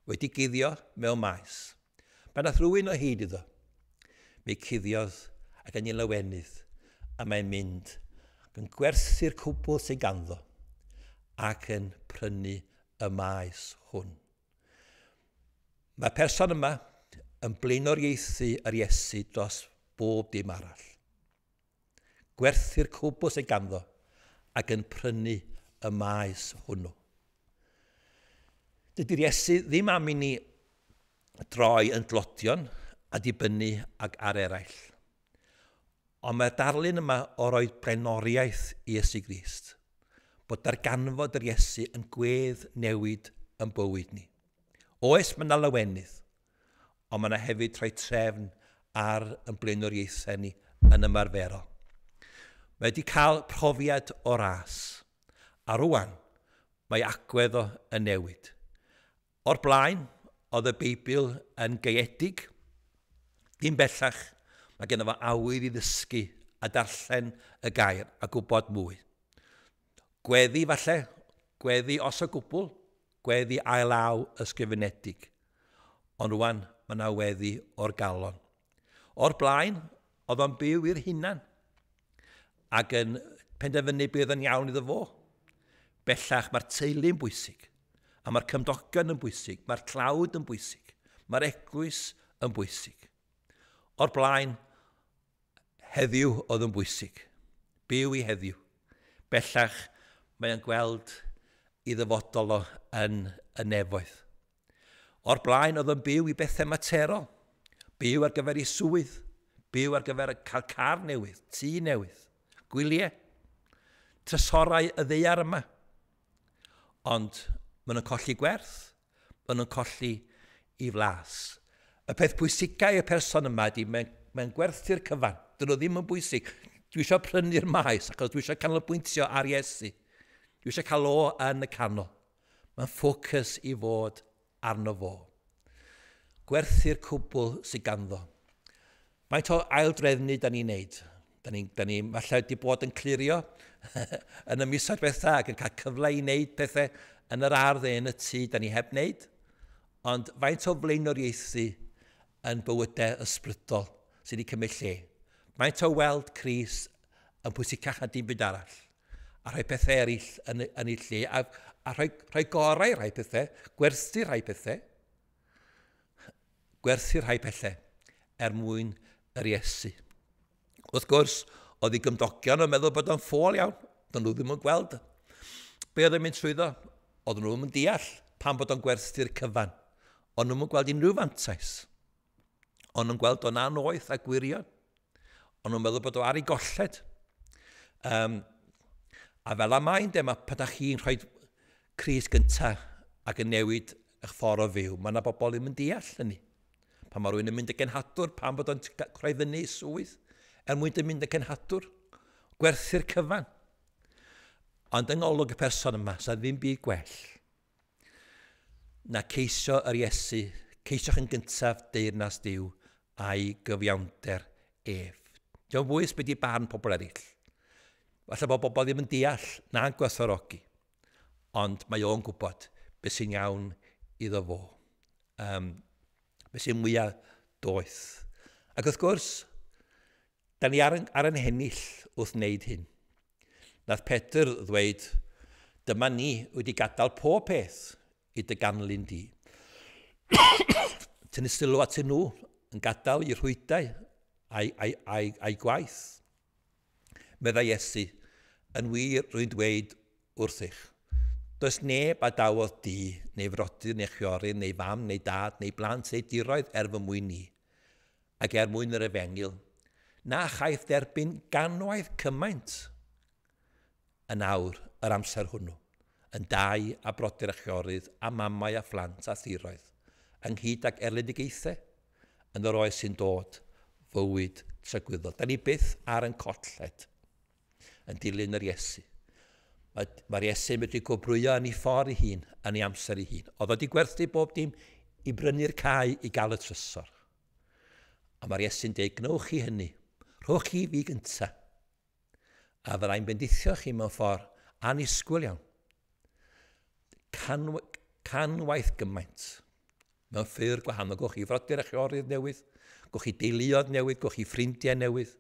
wedi guddio mewn maes. Pan nath rhywun o hyd iddo, mi cuddiodd ac yn ei lawenydd, a mae'n mynd ac yn gwerthu'r cwbl sydd ganddo ac yn prynu y maes hwn. Mae'r person yma yn blaenoriaethu yr Iesu dros bob dim arall. Gwerthu'r cwbl sydd ganddo ac yn prynu y maes hwnnw. Dydy'r Iesu ddim am i ni droi yn dlodion a dibynnu ag ar eraill. Ond mae'r darlun yma o roi blaenoriaeth i Iesu Grist. Bod darganfod yr Iesu yn gwedd newid yn bywyd ni. Oes, mae yna lawenydd, ond mae yna hefyd rhoi trefn ar yn blaenoriaethau ni yn ymarferol. Mae wedi cael profiad o ras, a rwan mae agwedd o yn newid. O'r blaen, oedd y Beibl yn gaeedig, dim bellach, mae genno fo awydd i ddysgu a darllen y gair a gwybod mwy. Gweddi falle, gweddi os o gwbl, gweddi ail-law ysgrifenedig. Ond rwan, mae yna weddi o'r galon. O'r blaen, oedd o'n byw i'r hunan ac yn penderfynu beth yn iawn iddo fo. Bellach, mae'r teulu'n bwysig, a mae'r cymdogion yn bwysig, mae'r tlawd yn bwysig, mae'r eglwys yn bwysig. O'r blaen, heddiw oedd yn bwysig. Byw i heddiw. Bellach, mae o'n gweld i ddyfodol o yn y nefoedd. O'r blaen, oedd yn byw i bethau materol. Byw ar gyfer ei swydd. Byw ar gyfer cael car newydd, tŷ newydd, gwyliau, trysorau y ddaear yma. Ond maen nhw'n colli gwerth, maen nhw'n colli i flas. Y peth pwysicau y person yma ydy, mae'n mae gwerthu'r cyfan. Dyn nhw ddim yn bwysig. Dwi eisiau prynu'r maes achos dwi eisiau canolbwyntio ar Iesu. Dwi eisiau cael o yn y canol. Mae'n ffocws i fod arno fo. Gwerthu'r cwbl sydd ganddo. Faint o aildrefnu da ni'n neud? Da ni'n da ni falle wedi bod yn clirio yn y misoedd diwetha ac yn cael cyfle i wneud pethau yn yr ardd neu yn y tŷ da ni heb wneud. Ond faint o flaenoriaethu yn bywydau ysbrydol sydd wedi cymryd lle. Faint o weld Crist yn pwysicach na dim byd arall. A rhoi pethau eraill yn, yn ei lle. A, a rhoi, rhoi gorau rhai pethau, gwerthu rhai pethau. Gwerthu rhai pethau er mwyn yr Iesu. Wrth gwrs, oedd ei gymdogion yn meddwl bod o'n ffôl iawn. Do'n nhw ddim yn gweld. Be oedd yn mynd trwyddo? Oedden nhw ddim yn deall pam bod o'n gwerthu'r cyfan. O'n nhw'n gweld unrhyw fantais. O'n nhw'n gweld o'n annoeth a gwirion. O'n nhw'n meddwl bod o ar ei golled. Um, a fel am mae'n de, mae pan da chi'n rhoi Crist gyntaf ac yn newid eich ffordd o fyw, mae yna bobl ddim yn deall hynny. Pan mae rhywun yn mynd y genhadwr, pam bod o'n rhoi fyny swydd, er mwyn dy mynd y genhadwr, gwerthu'r cyfan. Ond yng ngolwg y person yma, sa ddim byd gwell na ceisio yr Iesu, ceisiwch yn gyntaf deyrnas Duw a'i gyfiawnder ef. Dio'm bwys be di barn pobl eraill. Falle bod bobl ddim yn deall na'n gwerthfawrogi, ond mae o'n gwybod beth sy'n iawn iddo fo. Um, beth sy'n mwyaf doeth. Ac wrth gwrs, Da ni ar, ar yn hennill wrth wneud hyn. Nath Pedr ddweud, dyma ni wedi gadael pob peth i dy ganlyn di. Tynnu sylw at nhw yn gadael i rhwydau a'i, a'i, a'i, a'i gwaith. Meddai Iesu, yn wir rwy'n dweud wrthych. Does neb a dawodd di, neu frodyr, neu chwiorydd, neu fam, neu dad, neu blant, neu diroedd er fy mwyn ni, ac er mwyn yr efengyl, na chaiff derbyn ganwaith cymaint yn awr yr amser hwnnw, yn dau a brodyr a chwiorydd, a mamau a phlant a thiroedd, ynghyd ag erledigaethau, yn yr oes sy'n dod, fywyd tragwyddol. Da ni byth ar yn colled yn dilyn yr Iesu. Mae'r mae Iesu wedi gwobrwyo yn ei ffordd ei hun, yn ei amser ei hun. Oedd wedi gwerthu bob dim i brynu'r cae i gael y trysor. A mae'r Iesu'n dweud, gnewch chi hynny, rhowch chi fi gynta. A fyddai'n bendithio chi mewn ffordd annisgwyl iawn. Can, canwaith gymaint mewn ffyrdd gwahanol. Gwch chi frodyr a chwiorydd newydd, gwch chi deuluoedd newydd, gwch chi ffrindiau newydd.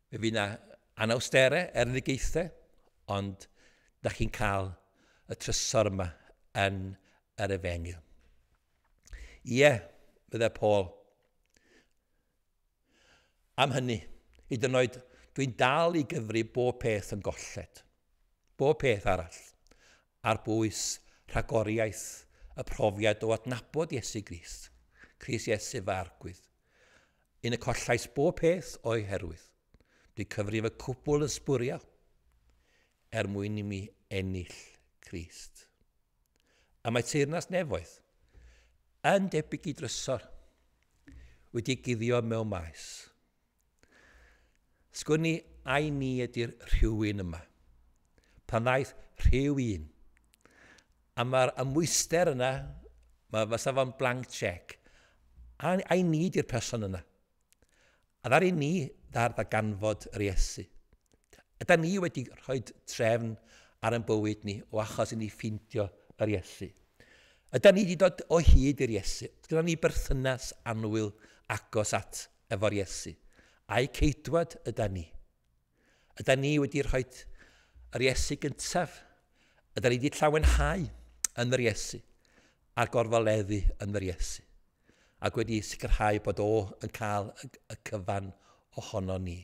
Fe fydd yna anawsterau, erledigaethau, ond da chi'n cael y trysor yma yn yr efengyl. Ie, bydde Paul. Am hynny, hyd yn oed, dwi'n dal i gyfri bob peth yn golled. Bob peth arall. Ar bwys rhagoriaeth y profiad o adnabod Iesu Grist. Crist Iesu fy arglwydd. Un y collais bob peth o'i herwydd. Dwi'n cyfrif y cwbl yn sbwriel er mwyn i mi ennill Crist. A mae teyrnas nefoedd yn debyg i drysor wedi guddio mewn maes. Sgwn i ai ni ydy'r rhywun yma. Pan ddaeth rhywun. A mae'r amwyster yna, mae fysa fo'n blank check. A, ai ni ydy'r person yna. A ddaru ni ddar ddarganfod yr Iesu. Yda ni wedi rhoi trefn ar ein bywyd ni o achos i ni ffeindio yr Iesu. Yda ni wedi dod o hyd i'r Iesu. Gyda ni berthynas annwyl agos at efo'r Iesu. A'i ceidwad yda ni. Yda ni wedi rhoi yr Iesu gyntaf. Yda ni wedi llawenhau yn yr Iesu a'r gorfoleddu yn yr Iesu. Ac wedi sicrhau bod o yn cael y cyfan ohono ni.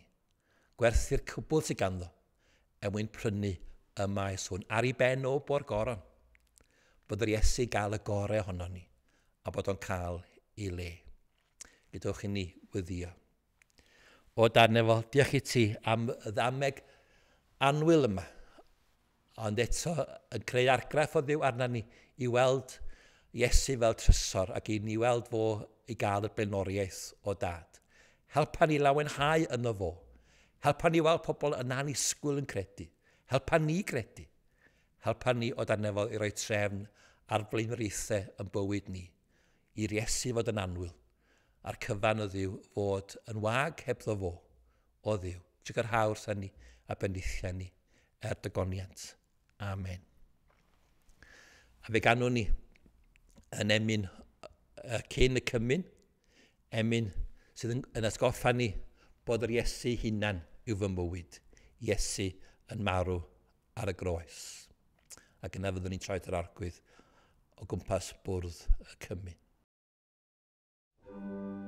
Gwerthu'r cwbl sydd ganddo er mwyn prynu y maes hwn ar ei ben o bo'r goron. Bod yr Iesu gael y gorau ohono ni a bod o'n cael ei le. Gadewch i ni weddïo. O Dad nefol, diolch i ti am y ddameg annwyl yma, ond eto yn creu argraff o Dduw arna ni i weld Iesu fel trysor ac i ni weld fo i gael y blaenoriaeth o Dad. Helpa ni lawenhau yno fo. Helpa ni weld pobl yn annisgwyl yn credu. Helpa ni gredu. Helpa ni o dan nefol i roi trefn ar blaenoriaethau yn bywyd ni. I'r Iesu fod yn annwyl, a'r cyfan o Dduw fod yn wag hebddo fo o Dduw. Trugarha wrtha ni a bendithia ni er dygoniant. Amen. A fe ganwn ni yn emyn cyn y cymun, emyn sydd yn, yn atgoffa ni bod yr Iesu hunan yw fy mywyd. Iesu yn marw ar y groes. Ac yna fyddwn ni'n troi at yr Arglwydd o gwmpas bwrdd y cymun. Yes,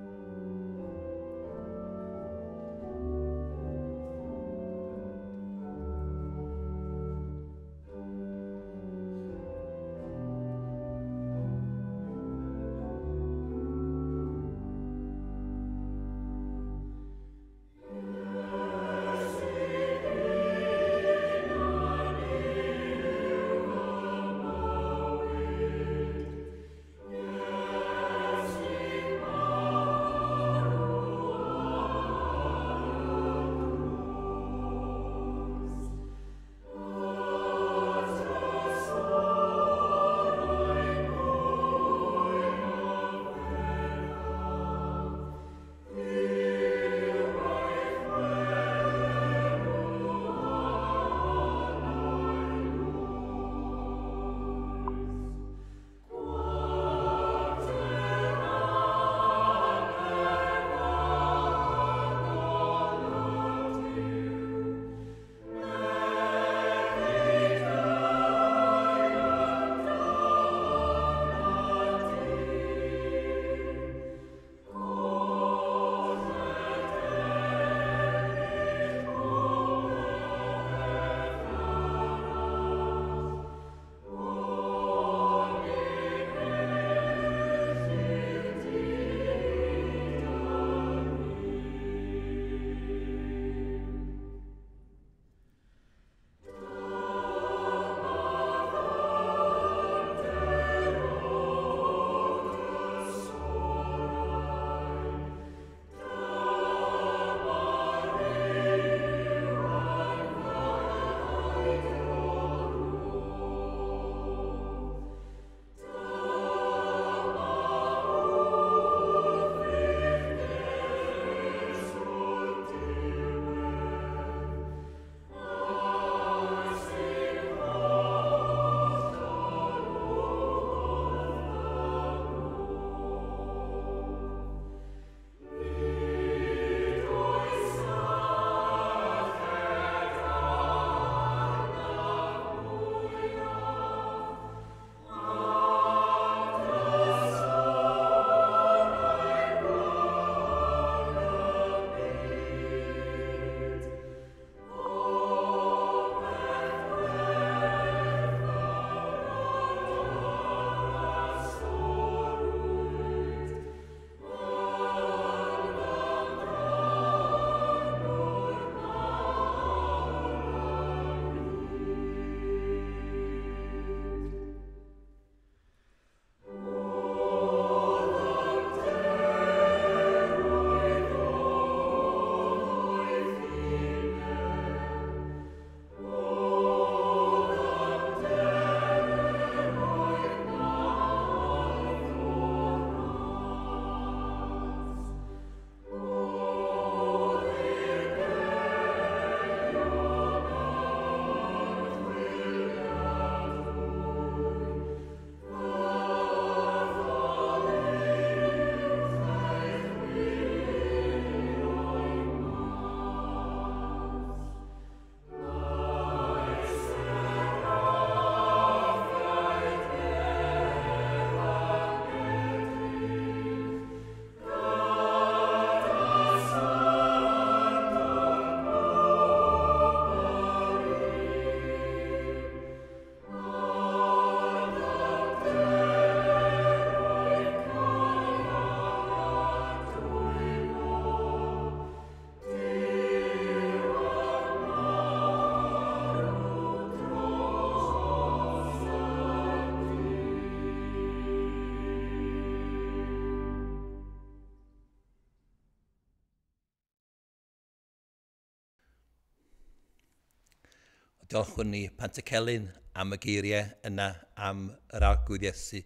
Diolchwn ni Pantycelyn am y geiriau yna am yr Arglwydd Iesu.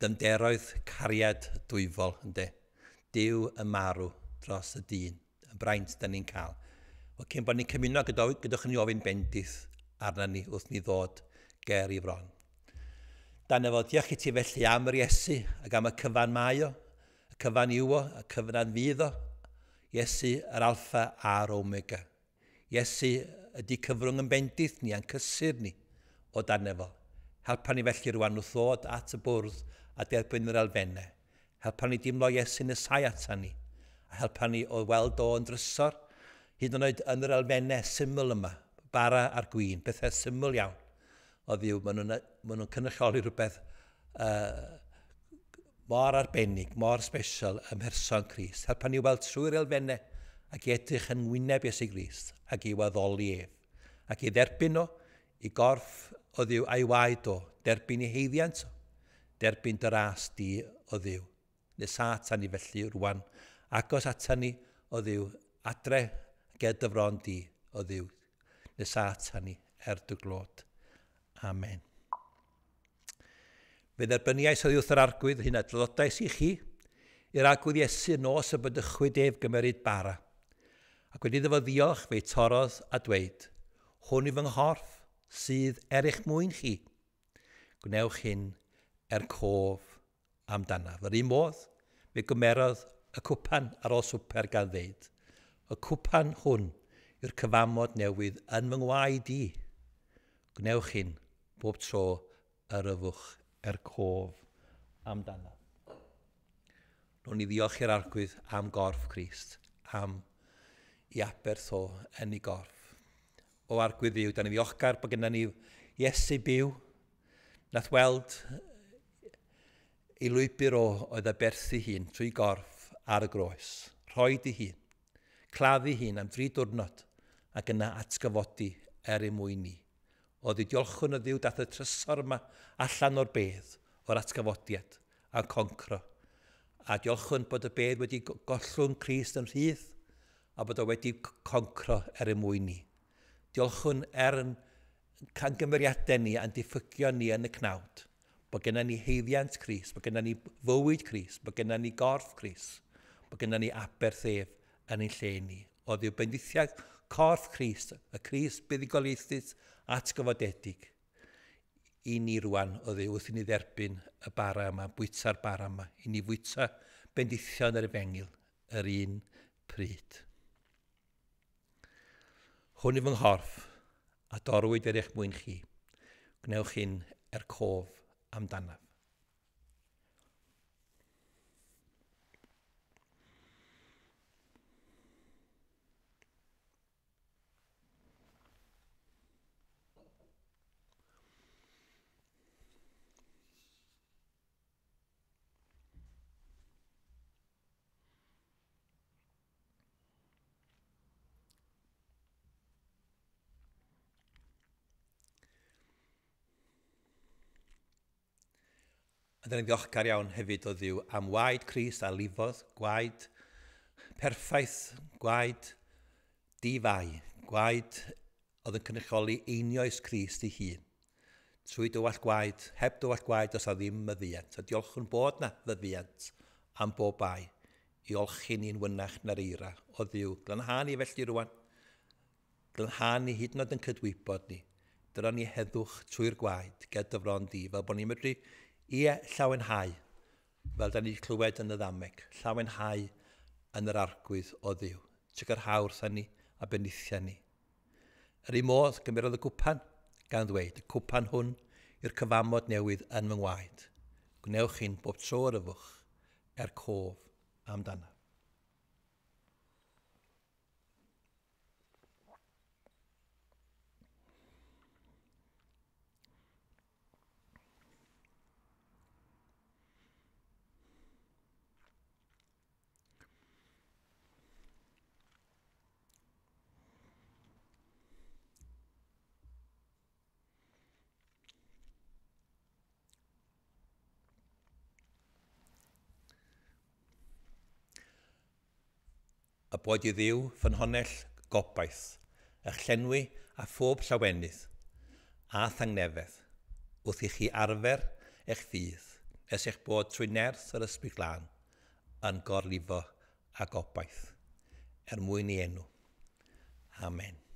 Dymderoedd cariad dwyfol, ynde. Duw yn marw dros y dyn, y braint da ni'n cael. Wel, cyn bod ni'n cymuno, gydwch ni ofyn bendith arna ni wrth ni ddod ger i fron. Dan efo, diolch i ti felly am yr Iesu ac am y cyfan mae o, y cyfan yw o, y cyfan fydd o. Iesu, yr Alpha a'r Omega. Iesu ydy cyfrwng yn bendith ni a'n cysur ni o dan efo. Helpa ni felly rwan wrth ddod at y bwrdd a derbyn yr elfennau. Helpa ni dimlo Iesu nesau ata ni. A helpa ni o weld o yn drysor, hyd yn oed yn yr elfennau syml yma, bara a'r gwin, bethau syml iawn. O Dduw, maen nhw'n ma nhw cynrychioli rhywbeth uh, mor arbennig, mor special ym mherson Crist. Helpa ni weld trwy'r elfennau ac i edrych yn wyneb Iesu Grist ac i waddoli ef. Ac i dderbyn o, i gorff o Dduw a'i waed o, derbyn i heiddiant o, derbyn dy ras di o Dduw. Nesa ata ni felly rwan, agos ata ni o Dduw, adre ger dy fron di o Dduw. Nesa ata ni er dy glod. Amen. Fe dderbyniais oddi wrth yr Arglwydd hyn a draddodais i chi, i'r Arglwydd Iesu nos y bydychwyd ef gymeryd bara. Ac wedi iddo fo ddiolch, fe'i torrodd a dweud, hwn yw fy nghorff sydd er eich mwyn chi. Gwnewch hyn er cof amdanaf. Yr un modd, fe gymerodd y cwpan ar ôl swper gan ddeud, y cwpan hwn yw'r cyfamod newydd yn fy ngwaed i. Gwnewch hyn bob tro yr yfwch er cof amdanaf. Rwy'n i ddiolch i'r Arglwydd am gorff Crist, am i aberth o yn ei gorff. O Arglwydd Dduw, da ni ddiolchgar bod gennym ni Iesu byw, nath weld ei lwybr o oedd aberthu hun trwy gorff ar y groes, rhoid ei hun, claddu hun am dri diwrnod ac yna atgyfodi er ei mwyn ni. O Dduw, diolchwn o Dduw dath y trysor yma allan o'r bedd, o'r atgyfodiad a'n concro. A diolchwn bod y bedd wedi gollwng Crist yn rhydd a bod o wedi concro er ei mwyn ni. Diolchwn er yn cangymeriadau ni a'n diffygion ni yn y cnawd, bod gennym ni heiddiant Crist, bod gennym ni fywyd Crist, bod gennym ni gorff Crist, bod gennym ni aberth ef yn ein lle ni. O Dduw, bendithiad corff Crist, y Crist buddugoliaethus atgyfodedig, i ni rwan o Dduw wrth i ni dderbyn y bara yma, bwyta'r bara yma, i ni fwyta bendithion yr efengyl yr un pryd. Hwn yw fy nghorff, a dorwyd er eich mwyn chi. Gwnewch hyn er cof amdanaf. A dyna ni'n ddiolchgar iawn hefyd o Dduw am waed Crist a lifodd, gwaed perffaith, gwaed di-fai, gwaed oedd yn cynrychioli einioes Crist ei hun. Trwy dywallt gwaed, heb dywallt gwaed, os a ddim maddeuant. A diolchwn bod na faddeuant am bob bai i olchi ni'n wynach na'r eira o Dduw. Glanha ni felly rwan, glanha ni hyd yn oed yn cydwybod ni. Dyna ni heddwch trwy'r gwaed ger dy fron di, fel bod ni'n medru ie llawenhau, fel da ni wedi clywed yn y ddameg, llawenhau yn yr Arglwydd o Dduw. Trygarhau wrtha ni a bendithia ni. Yr un modd, gymerodd y cwpan, gan ddweud, y cwpan hwn yw'r cyfamod newydd yn fy ngwaed. Gwnewch hyn bob tro yr yfwch er cof amdanaf. A boed i Dduw ffynhonnell gobaith, eich llenwi a phob llawenydd a thangnefedd wrth i chi arfer eich ffydd nes eich bod trwy nerth yr Ysbryd Glân yn gorlifo a gobaith er mwyn ei enw. Amen.